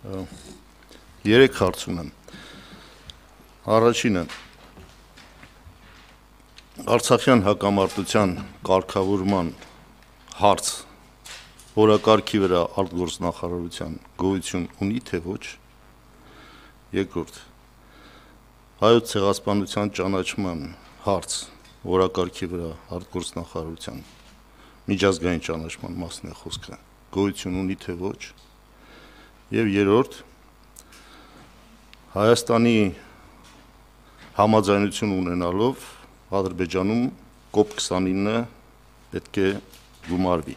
Երեք հարց ունեմ։ Առաջինը Արցախյան հակամարտության կարգավորման հարց օրակարգի վրա արտգործնախարարության գոյություն ունի թե ոչ։ Երկրորդ Հայոց ցեղասպանության ճանաչման հարց օրակարգի վրա արտգործնախարարության միջազգային ճանաչման մասն է խոսքը գոյություն ունի թե ոչ։ Եվ երրորդ Հայաստանի համաձայնություն ունենալով Ադրբեջանում COP29-ը պետք է գումարվի։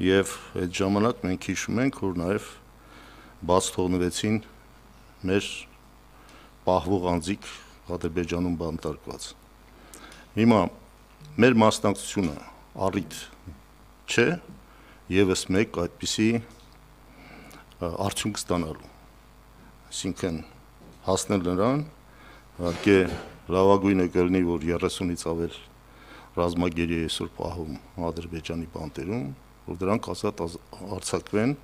Եվ այդ ժամանակ մենք հիշում ենք, որ նաև բաց թողնվեցին մեր պահվող անձիկ Ադրբեջանում բանտարկված։ Հիմա մեր մասնակցությունը առիթ չէ եւս մեկ այդպիսի արդյունք ստանալու։ Այսինքն հասնել նրան, իհարկե լավագույնը կլինի, որ 30-ից ավել ռազմագերի է այսօր պահում Ադրբեջանի բանտերում, որ դրանք ազատ արձակվեն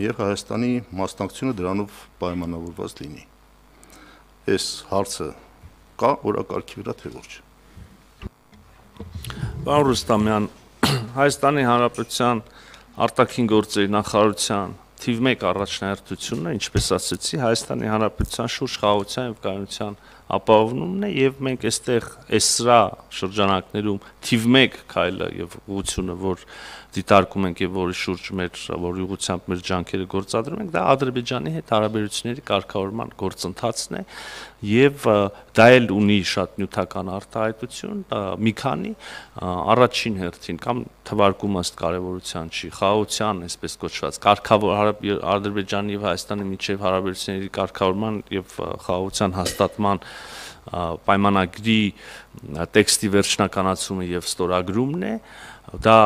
եւ Հայաստանի մասնակցությունը դրանով պայմանավորված լինի։ Այս հարցը կա օրակարգի վրա թե ոչ։ Պարոն Ռուստամյան, Հայաստանի Հանրապետության արտաքին գործերի նախարարության թիվ 1 առաջնահերթությունը, ինչպես ասացի, Հայաստանի Հանրապետության շուրջ խաղաղության եւ կայունության ապահովումն է եւ մենք այստեղ սրա շրջանակներում թիվ 1 քայլը եւ ուղղությունը, որ դիտարկում ենք եւ որի շուրջ որի ուղղությամբ մեր ջանքերը գործադրում ենք, դա Ադրբեջանի հետ հարաբերությունների կարգավորման գործընթացն է եւ դա էլ ունի շատ նյութական արտահայտություն, մի քանի առաջին հերթին կամ թվարկում ըստ կարևորության չի, խաղաղության, այսպես կոչված, Ադրբեջանի եւ Հայաստանի միջև հարաբերությունների կարգավորման եւ խաղաղության հաստատման պայմանագրի տեքստի վերջնականացումը եւ ստորագրումն է, դա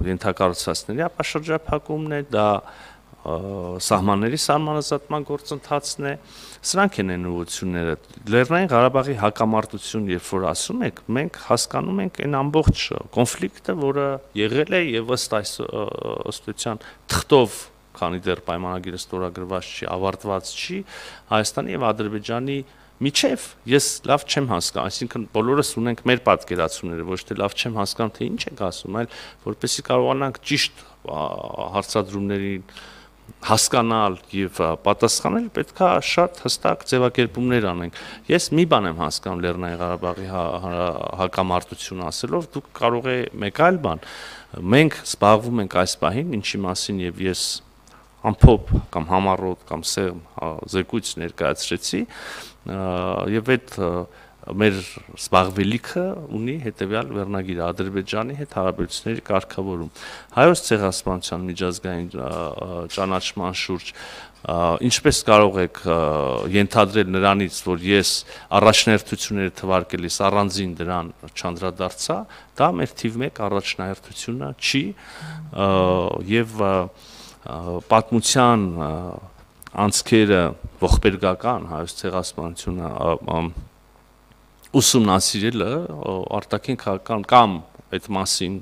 ենթակառուցվածքների ապաշրջափակումն է, դա սահմանների սահմանազատման գործընթացն է, սրանք են այն ուղղությունները։ Լեռնային Ղարաբաղի հակամարտություն, երբ որ ասում եք, մենք հասկանում ենք այն ամբողջ կոնֆլիկտը, որը եղել է եւ ըստ էության թղթով, քանի դեռ պայմանագիրը ստորագրված չի, ավարտված չի, Հայաստանի եւ Ադրբեջանի միջև ես լավ չեմ հասկանում, այսինքն բոլորս ունենք մեր պատկերացումները, ոչ թե լավ չեմ հասկանում, թե ինչ եք ասում, այլ որպեսզի կարողանանք ճիշտ հարցադրումներին հասկանալ եւ պատասխանել, պետքա շատ հստակ ձևակերպումներ անենք։ Ես մի բան եմ հասկանում Լեռնային Ղարաբաղի հակամարտություն ասելով, դուք կարող է մեկ այլ բան։ Մենք զբաղվում ենք այս պահին, ինչի մասին եւ ես ամփոփ կամ համառոտ կամ սեղմ զեկույց ներկայացրեցի եւ այդ մեր զբաղվելիքը ունի հետեւյալ վերնագիր Ադրբեջանի հետ հարաբերությունների կարգավորում։ Հայոց ցեղասպանության միջազգային ճանաչման շուրջ ինչպես կարող եք ենթադրել նրանից, որ ես առաջնահերթությունները թվարկելիս առանձին դրան չանդրադարձա, դա մեր թիվ 1 առաջնահերթությունը չի եւ պատմության անցքերը ողբերգական հայոց ցեղասպանությունը ուսումնասիրելը արտաքին քաղաքական կամ այդ մասին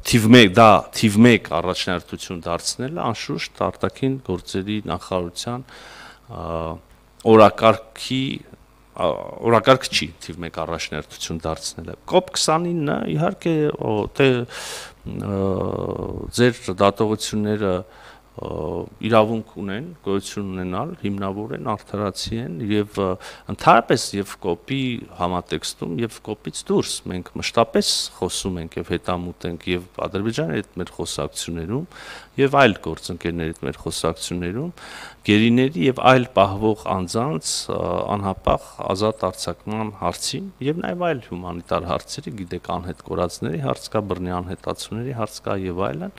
թիվ 1 առաջնահերթություն դարձնելը անշուշտ արտաքին գործերի նախարարության օրակարգ չի թիվ 1 առաջնահերթություն դարձնելը։ COP29-ը իհարկե ձեր դատողությունները իրավունք ունեն, գոյություն ունենալ, հիմնավոր են, արդարացի են եւ ընդհանրապես եւ կոպի համատեքստում եւ կոպից դուրս մենք մշտապես խոսում ենք եւ հետամուտ ենք եւ Ադրբեջանի հետ մեր խոսակցություններում եւ այլ գործընկերների հետ մեր խոսակցություններում գերիների եւ այլ պահվող անձանց անհապաղ ազատ արձակման հարցին եւ նաեւ այլ հումանիտար հարցերի, գիտեք, անհետ կորածների հարց կա, բռնի անհետացումների հարց կա եւ այլն։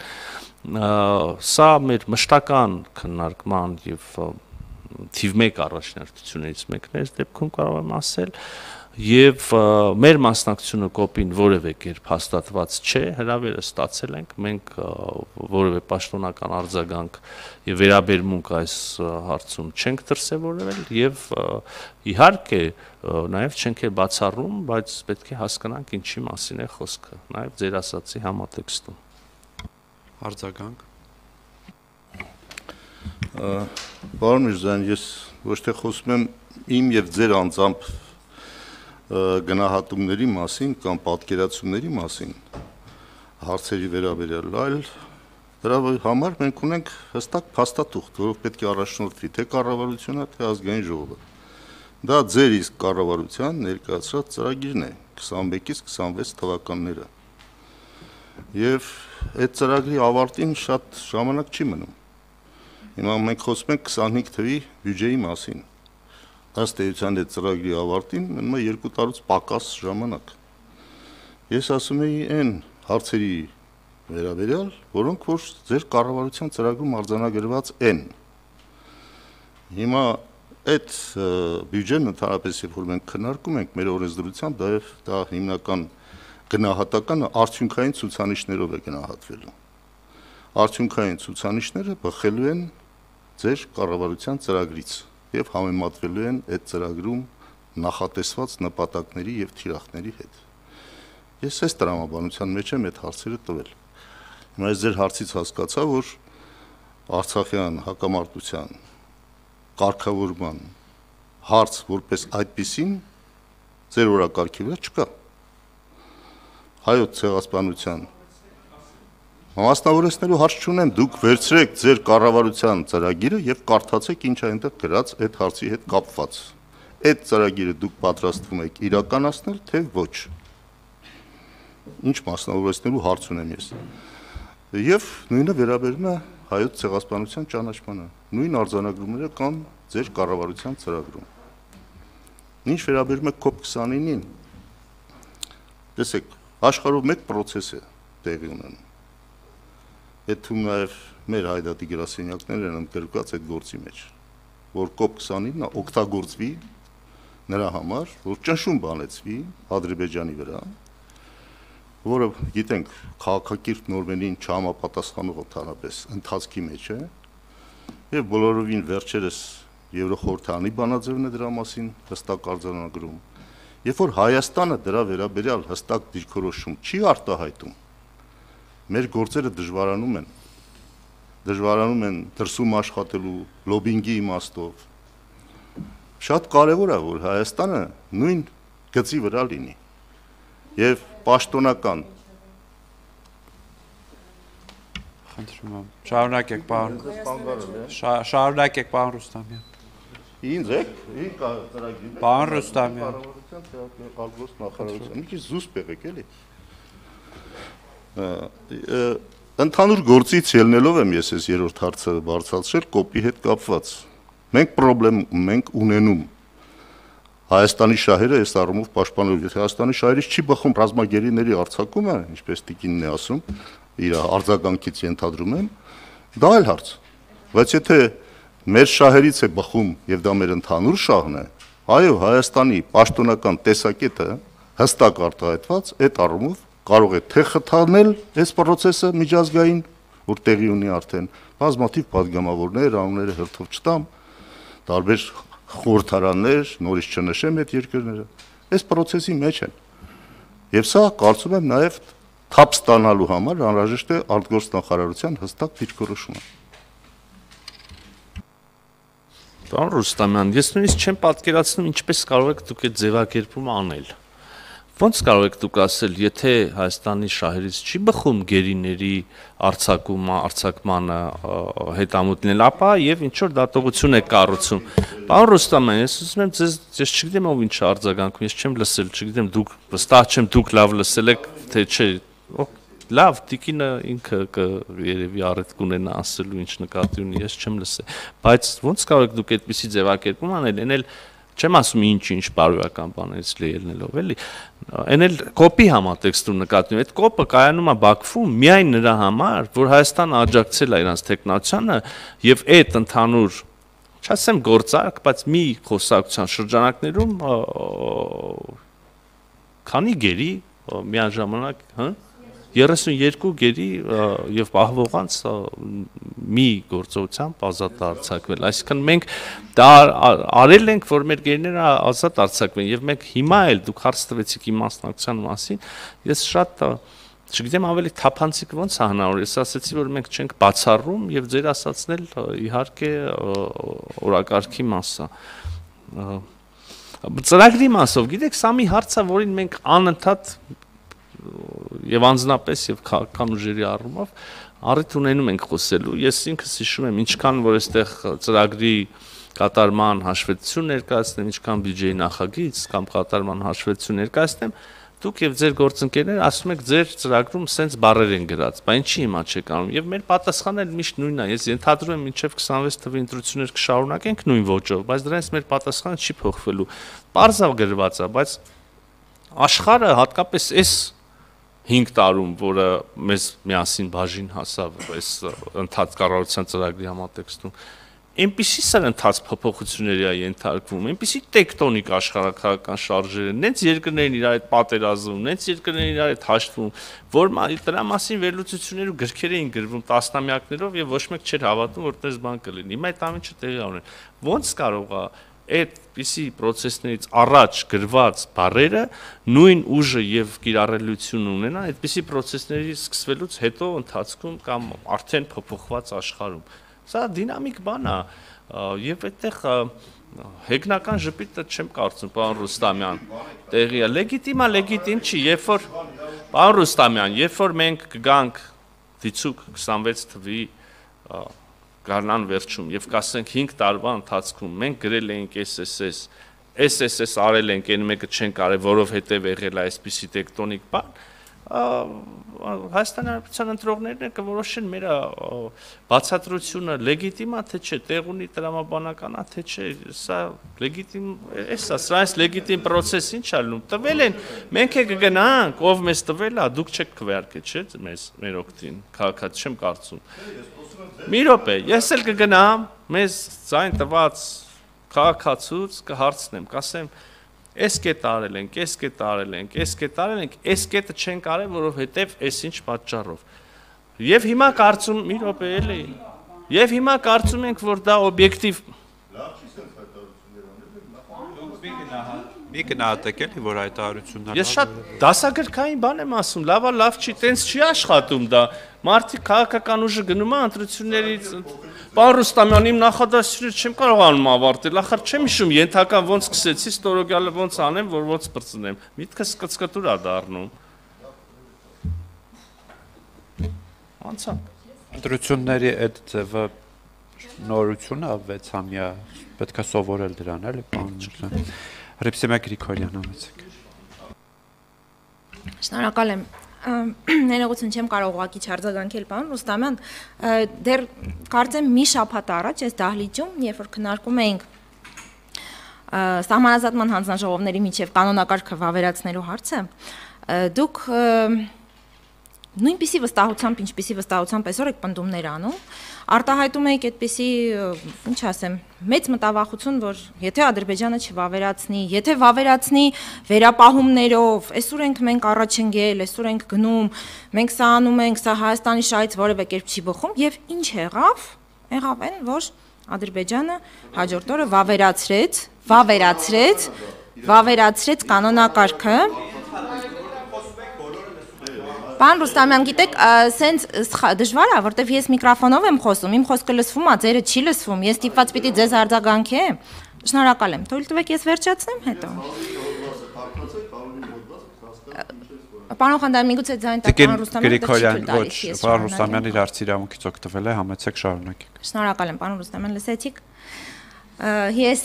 Սա մեր մշտական քննարկման եւ թիվ 1 առաջնահերթություններից մեկն է, դեպքում կարող եմ ասել, եւ մեր մասնակցությունը կոպին որևէ կերպ հաստատված չէ, հրավերը ստացել ենք, մենք որևէ պաշտոնական արձագանք եւ վերաբերմունք այս հարցում չենք դրսեւորել եւ իհարկե նաեւ չենք բացառում, բայց պետք է հասկանանք ինչի մասին է խոսքը, նաեւ ձեր ասացի համատեքստում։ Արձագանք Պարոն Միրզոյան, ես ոչ թե խոսում եմ իմ եւ ձեր անձամբ գնահատումների մասին կամ պատկերացումների մասին հարցերի վերաբերյալ, այլ դրա համար մենք ունենք հստակ փաստաթուղթ, որով պետք է առաջնորդվի թե կառավարությունը, թե ազգային ժողովը։ Դա ձեր իսկ կառավարության ներկայացրած ծրագիրն է 21-ից 26 թվականները։ Եվ այդ ծրագրի ավարտին շատ ժամանակ չի մնում։ Հիմա մենք խոսում ենք 25 թվականի բյուջեի մասին։ Ըստ էության այդ ծրագրի ավարտին մնում է 2 տարուց պակաս ժամանակ։ Ես ասում եի այն հարցերի վերաբերյալ, որոնք որ ձեր կառավարության ծրագրում արձանագրված են։ Հիմա այդ բյուջեն ընդհանրապես երբ որ մենք քննարկում ենք մեր օրենսդրությամբ, դա հիմնական գնահատականը արդյունքային ցուցանիշներով է գնահատվելու։ Արդյունքային ցուցանիշները բխելու են ձեր կառավարության ծրագրից եւ համեմատվելու են այդ ծրագրում նախատեսված նպատակների եւ թիրախների հետ։ Ես այս տրամաբանության մեջ եմ այդ հարցերը տվել։ Հիմա ես ձեր հարցից հասկացա, որ Արցախյան հակամարտության կարգավորման հարց որպես այդպիսին ձեր օրակարգի վրա չկա։ Հայոց ցեղասպանության Մասնավորեցնելու հարց չունեմ, դուք վերցրեք ձեր կառավարության ծրագիրը եւ կարդացեք ինչ է այնտեղ գրած այդ հարցի հետ կապված։ Այդ ծրագիրը դուք պատրաստվում եք իրականացնել, թե ոչ։ Ինչ մասնավորեցնելու հարց ունեմ ես։ Եվ նույնը վերաբերում է հայոց ցեղասպանության ճանաչմանը։ Նույն արձանագրումները կան ձեր կառավարության ծրագրում։ Ինչ վերաբերում է COP29-ին, տեսեք, աշխարհում մեկ process է տեղի ունենում։ Այդ թվում նաև մեր հայդատի գրասենյակներն են ընդգրկված այդ գործի մեջ, որ COP29-ը օգտագործվի նրա համար, որ ճնշում բանեցվի Ադրբեջանի վրա, որը գիտենք քաղաքակիրթ նորմերին չհամապատասխանող ընդհանրապես ընթացքի մեջ է, եւ բոլորովին վերջերս Եվրոխորհրդանի բանաձևն է դրա մասին հստակ արձանագրում, երբ որ Հայաստանը դրա վերաբերյալ հստակ դիրքորոշում չի արտահայտում, մեր գործերը դժվարանում են դրսում աշխատելու լոբինգի իմաստով։ Շատ կարևոր է, որ Հայաստանը նույն գծի վրա լինի եւ պաշտոնական Խնդրում եմ, շարունակեք, պարոն Ռուստամյան։ Ինձ եք, ծրագրի մեջ Պարոն Ռուստամյան, նախարարության, մի քիչ զուսպ եղեք, էլի։ Ընդհանուր գործից ելնելով եմ ես այս երրորդ հարցը բարձրացրել կոպի հետ կապված։ Մենք խնդրեմ ենք ունենում Հայաստանի շահերը այս առումով պաշտպանելու։ Եթե Հայաստանի շահերից չի բխում ռազմագերիների արձակումը, ինչպես տիկինն է ասում, իր արձագանքից ենթադրում եմ, դա այլ հարց։ Բայց եթե մեր շահերից է բխում եւ դա մեր ընդհանուր շահն է, այո, Հայաստանի պաշտոնական տեսակետը հստակ արտահայտված այդ առումով կարող է թե խթանել այս process-ը միջազգային, որ տեղի ունի արդեն բազմաթիվ падգամավորներ, անունները հերթով չտամ, տարբեր խորհրդարաններ, նորից չնշեմ այդ երկրները, այս process-ի մեջ են։ Եվ սա կարծում եմ նաև թափ ստանալու համար անհրաժեշտ է արտգործնախարարության հստակ դիրքորոշումը։ Պարոն Ռուստամյան, ես նույնիսկ չեմ պատկերացնում ինչպես կարող եք դուք այդ ձևակերպումը անել։ Ոնց կարող եք դուք ասել, եթե Հայաստանի շահերից չի բխում գերիների արձակմանը հետամուտնել, ապա եւ ինչ որ դատողություն է կառուցում։ Պարոն Ռուստամյան, ես ուզում եմ ձեզ, ես չգիտեմ ով ինչ արձագանքում, ես չեմ լսել, չգիտեմ դուք վստահ չեմ դուք լավ լսել եք, թե չէ։ Լավ, տիկինը ինքը երևի առիթ կունենա ասելու ինչ նկատի ունի, ես չեմ լսել։ Բայց ոնց կարող եք դուք այդպիսի ձևակերպում անել, էնել չեմ ասում ինչ բարոյական բաներից ելնելով, էլի։ Այն էլ կոպի համատեքստում նկատի ունի։ Այդ կոպը կայանում է Բաքվում միայն նրա համար, որ Հայաստանը աջակցել է իրանց տեխնացիանը եւ այդ ընդհանուր, չասեմ գործարք, բայց մի խոսակցության շրջանակներում քանի գերի միաժամանակ, 32 գերի եւ պահվողանց մի գործողությամբ ազատ արձակվել։ Այսինքն մենք դա արել ենք, որ մեր գերիները ազատ արձակվեն եւ մենք հիմա էլ դուք հարց տվեցիք իմ մասնակցության մասին, ես շատ չգիտեմ ավելի թափանցիկ ոնց է հնարավոր, ես ասացի, որ մենք չենք բացառում եւ ձեր ասածն էլ իհարկե օրակարգի մաս է։ Ծրագրի մասով, գիտեք, սա մի հարց է, որին մենք անընդհատ եւ անձնապես եւ քաղաքական ուժերի առումով առիթ ունենում ենք խոսելու։ Ես ինքս հիշում եմ, ինչքան որ այստեղ ծրագրի կատարման հաշվետվություն ներկայացնեմ, ինչքան բյուջեի նախագիծ կամ կատարման հաշվետվություն ներկայացնեմ, դուք եւ ձեր գործընկերները ասում եք ձեր ծրագրում սենց բառեր են գրած, բայց ինչի հիմա չեք անում։ Եվ մեր պատասխանը միշտ նույնն է։ Ես ենթադրում եմ մինչեւ 26 թվականի ընտրություններ կշարունակենք նույն ոճով, բայց դրանից մեր պատասխանը չի փոխվելու։ Պարզավ գրված է, բայց աշխարհը հատկապես այս 5 տարում, որը մեզ միասին բաժին հասավ այս ընդհանուր կառավարության ծրագրի համատեքստում, այնպիսի սրընթաց փոփոխությունների է ենթարկվում, այնպիսի տեկտոնիկ աշխարհակաղակական շարժեր են, նենց երկրներն իրար հետ պատերազմում, նենց երկրներն իրար հետ հաշտվում, որ դրա մասին վերլուծություններ ու գրքեր էին գրվում տասնամյակներով եւ ոչ մեկ չէր հավատում, որ այդպես բան կլինի։ Հիմա այդ ամենը տեղի ունեն։ Ոնց կարող է այդպիսի process-ներից առաջ գրված բառերը նույն ուժը եւ կիրառելիություն ունենան այդպիսի process-ների սկսվելուց հետո ընթացքում կամ արդեն փոփոխված աշխարհում։ Սա դինամիկ բան է եւ այդտեղ հեգնական ժպիտը չեմ կարծում, պարոն Ռուստամյան, տեղի է, լեգիտիմ չի, երբ որ պարոն Ռուստամյան, երբ որ մենք կգանք դիցուկ 26 թվականի գարնան վերջում եւ կասենք 5 տարվա ընթացքում մենք գրել էինք SSS արել ենք, այն մեկը չենք արել, որովհետեւ եղել է այսպիսի տեկտոնիկ բան, Հայաստանի Հանրապետության ընտրողներն կորոշեն մեր բացատրությունը լեգիտիմ է թե չէ, տեղ ունի տրամաբանական է թե չէ, սա լեգիտիմ է, սրանից լեգիտիմ process ինչ է լինում, տվել են, մենք կգնանք, ով մեզ տվել է, դուք չեք քվեարկել, չէ՞, մեր օգտին, քաղաքացի չեմ կարծում։ Մի րոպե, ես էլ կգնամ, մեզ ձայն տված քաղաքացուց կհարցնեմ, կասեմ, այս կետը արել ենք, այս կետը արել ենք, այս կետը արել ենք, այս կետը չենք արել, որովհետև այսինչ պատճառով։ Եվ հիմա կարծում, մի րոպե էլի, եւ հիմա կարծում ենք, որ դա օբյեկտիվ Մի գնահատեք էլի, որ այդ հայտարարությունն Ես շատ դասագրքային բան եմ ասում, լավ չի, տենց չի աշխատում դա։ Մարդիկ քաղաքական ուժը գնում է ընտրություններից Պարոն Ռուստամյան, իմ նախադասությունները չեմ կարողանում ավարտել, ախր չեմ հիշում ենթական ոնց սկսեցի, ստորոգյալը ոնց անեմ, որ ոնց բրծնեմ։ Միտքս կծկտուր է դառնում։ Անցանք։ Ընտրությունների այդ ձևը նորություն է 6-ամյա, պետք է սովորել դրան, էլի, պարոն Հռիփսիմե Գրիգորյան, ամեցեք։ Շնորհակալ եմ։ Ներողություն չեմ կարող ուղղակի չարձագանքել, պարոն Ռուստամյան, դեռ կարծեմ մի շաբաթ առաջ այս դահլիճում, երբ որ քննարկում էինք սահմանազատման հանձնաժողովների միջև կանոնակարգը վավերացնելու հարցը, դուք նույնպիսի վստահությամբ, ինչպիսի վստահությամբ այսօր եք պնդումներ անում, արտահայտում եք այդպիսի, ինչ ասեմ, մեծ մտավախություն, որ եթե Ադրբեջանը չվավերացնի, եթե վավերացնի վերապահումներով, այսօր ենք մենք առաջ ընկել, այսօր ենք գնում, մենք սա անում ենք, սա Հայաստանի շահից որևէ կերպ չի բխում, եւ ինչ եղավ այն, որ Ադրբեջանը հաջորդ օրը վավերացրեց կանոնակարգը Պարոն Ռուստամյան, գիտեք, սենց դժվար է, որտեվ ես միկրոֆոնով եմ խոսում, իմ խոսքը լսվում է, ձերը չի լսվում, ես ստիպված պիտի ձեզ արձագանքեմ։ Շնորհակալ եմ։ Թույլ տվեք ես վերջացնեմ հետո։ Պարոն Խանդան, միգուցե ձայն տակ պարոն Ռուստամյանը ոչ, պարոն Ռուստամյանը իր արծի իրավունքից օգտվել է, համեցեք շարունակեք։ Շնորհակալ եմ, պարոն Ռուստամյան, լսեցիք։ Ես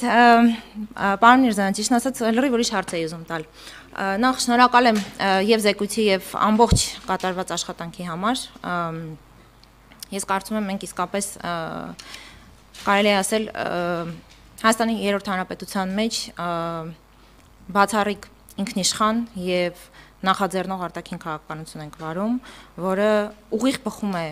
պարոն Միրզոյան, ճիշտ ասած, լրիվ ուրիշ հարց էի ուզում տալ։ Նախ շնորհակալ եմ եւ Զեկույցի եւ ամբողջ կատարված աշխատանքի համար։ Ես կարծում եմ մենք իսկապես կարելի է ասել Հայաստանի 3-րդ հանրապետության մեջ բացառիկ ինքնիշխան եւ նախաձեռնող արտաքին քաղաքականություն ենք վարում, որը ուղիղ բխում է